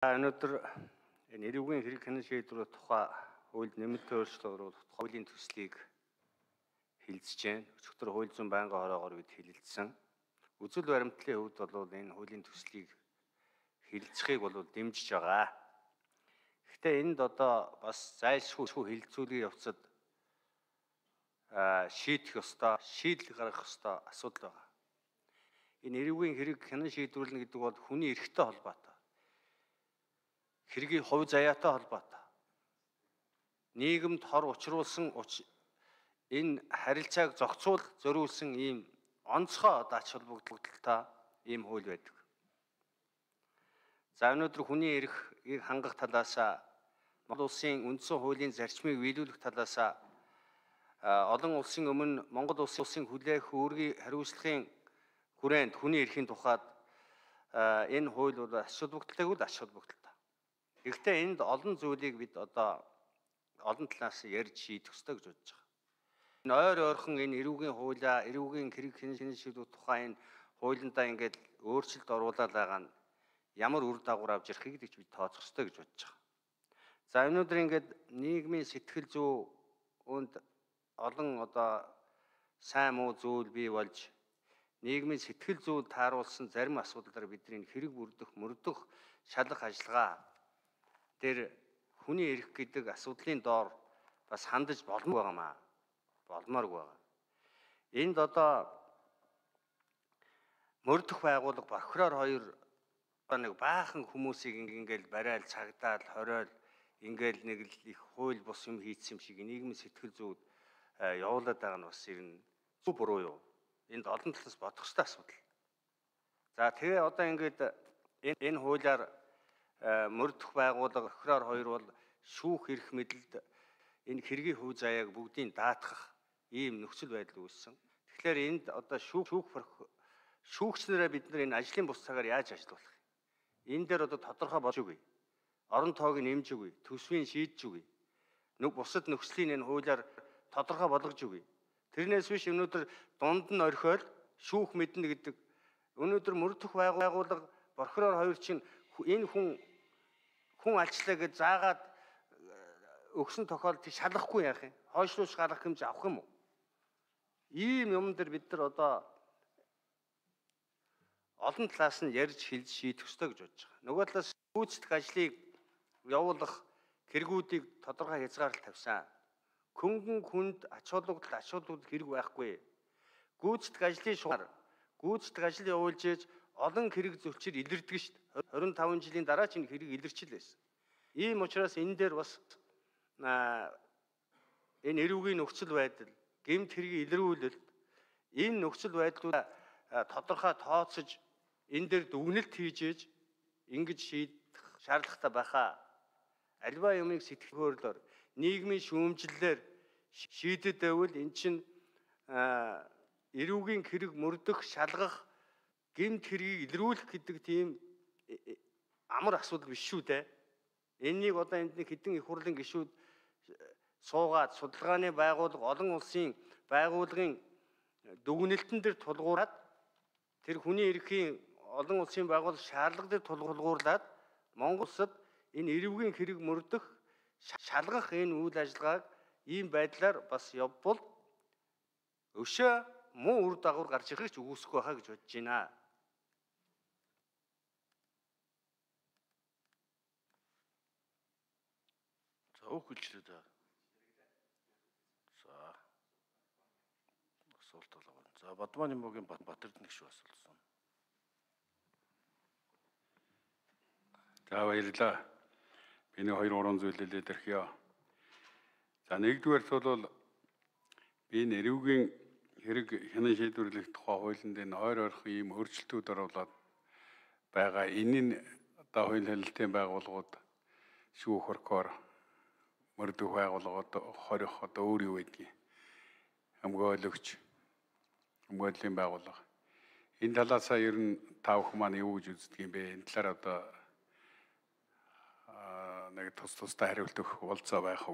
Өнөөдөр энэ эрүүгийн хэрэг хянан шийдвэрийн тухай хуульд нэмэлт өөрчлөлт оруулах хуулийн төслийг хэлэлцэж байна. Өчигдөр хууль зүйн байнгын хороогоор бид хэлэлцсэн. Үзэл баримтлалын хувьд бол энэ хуулийн төслийг хэлэлцэхийг бол дэмжиж байгаа. Гэхдээ энд одоо бас зайлшгүй хэлэлцүүлгийн явцад шийдэх ёстой, шийдэл гаргах ёстой асуудал байгаа. Энэ эрүүгийн хэрэг хянан шийдвэрлэнэ гэдэг бол хүний эрхтэй холбоотой. Хэргийн хувь заяатай холбоотой. Нийгэмд хор учруулсан энэ харилцааг зохицуулах зориулсан ийм онцгой ач холбогдолтой ийм хууль байдаг. За өнөөдөр хүний эрхийг хангах талаас Монгол улсын үндсэн хуулийн зарчмыг биелүүлэх талаас олон улсын өмнө Монгол улсын хүлээх үүргийн хариуцлагын хүрээнд хүний эрхийн тухайд энэ хууль бол ач холбогдолтой үл ач холбогдолтой. Гэхдээ энд олон зүйлийг бид одоо олон талаас ярьж шийдэх ёстой гэж бодож байгаа. Энэ ойрхон энэ эрүүгийн хуулиа, эрүүгийн хэрэг хянан шийдвэрлэх тухай энэ хуулиндаа ингээд өөрчлөлт оруулаад байгаа нь ямар үр дагавар авч ирэх гэж бид тооцох ёстой гэж бодож байгаа. За өнөөдөр ингээд нийгмийн сэтгэл зүйнд олон одоо сайн муу зүйл бий болж нийгмийн сэтгэл зүйд тааруулсан зарим асуудлаар бидний хэрэг мөрдөх шалгах ажиллагаа дээр хүний эрх гэдэг асуудлын доор бас хандаж болмооргүй байгаа. Энд одоо мөрдөх байгууллага прокурор хоёр нэг баахан хүмүүсийг ингээл барайл цагдаад хориол ингээл нэг л их хууль бус юм хийцсэн юм шиг нийгмийн сэтгэл зүйд явуулаад байгаа нь бас ер нь зөв буруу юу? Энд олон талаас бодох ёстой асуудал. За тэгээ одоо ингээд энэ хуулиар мөрдөх байгууллага прокурор хоёр бол шүүх эрх мэдэлд энэ хэргийн хувь заяаг бүгдийг даатгах ийм нөхцөл байдал үүссэн. Тэгэхээр энд одоо шүүгчнэрээ бид нар энэ ажлын бус цагаар яаж ажиллах вэ? Энэ дээр одоо тодорхой болж үгүй. Орон тоог нэмж үгүй. Төсвийн шийдэж үгүй. Бусад нөхцөлийн энэ хуулиар тодорхой болгож үгүй. Тэрнээс биш өнөөдөр дунд нь орхиол шүүх мэднэ гэдэг. Өнөөдөр мөрдөх байгууллага прокурор хоёр чинь энэ хүн алчлаа гэж заагаад өгсөн тохиолдолд шалгахгүй яах юм? Хойшлуулж гаргах хэмжээ авах юм уу? Ийм юм дээр бид нар одоо олон талаас нь ярьж хэлж шийдэх ёстой гэж бодож байгаа. Нөгөө талаас гүйцэтгэх ажлыг явуулах хэрэгүүдийг тодорхой хязгаарлалт тавьсан. Хөнгөн хүнд ач холбогдол хэрэг байхгүй. Гүйцэтгэх ажлын шугаар гүйцэтгэх ажил явуулж ээж олон хэрэг зөрчил илэрдэг шүү дээ. 25 жилийн дараа ч энэ хэрэг илэрчил байсан. Ийм учраас энэ дээр бас энэ эрүүгийн нөхцөл байдал, гэмт хэргийн илрүүлэлт энэ нөхцөл байдлуудаа тодорхой тооцож энэ дээр дүгнэлт хийж ээж ингэж шийдэх шаардлагатай байхаа. Альва юмыг сэтгэл хөдлөлөөр нийгмийн шүүмжлэлээр шийдэд байвал эн чинь эрүүгийн хэрэг мөрдөх, шалгах, гэмт хэргийг илрүүлэх гэдэг тийм амар асуудал биш шүү дээ. Энэнийг одоо энд нэг хэдэн их хурлын гишүүд суугаад судалгааны байгууллага олон улсын байгууллагын дүгнэлтэн дээр тулгуураад тэр хүний эрхийн олон улсын байгууллага шаардлага дээр тулгуурлаад Монгол улсад энэ эрүүгийн хэрэг мөрдөх, шалгах энэ үйл ажиллагааг ийм байдлаар бас явбал өшөө муу үр дагавар гарч ирэх ч үгүйсэхгүй байхаа гэж бодож байна. За өгүүлчлээ да. За. Асуулт болоо. За Бадманы мөгийн Батэрд нэг шүү асуулсан. За баярлалаа. Би нэг 2-3 зүйлээ дэрхье. За нэгдүгээрт бол би эрүүгийн хэрэг хянан шийдвэрлэх тухай хуулинд энэ ойрхон ийм өөрчлөлтүүд оруулаад байгаа. Энэ нь одоо хууль хэлэлтийн байгууллагууд шүүх прокурор мөрдөх байгууллагууд хорих одоо өөр юу гэдгийг хамгаалagч хамгааллын байгууллага. Энэ талаасаа ер нь та бүхэн маань юу гэж үздэг юм бэ? Энэ талаар одоо нэг тусдаа хариулт өгөх болцоо байх уу?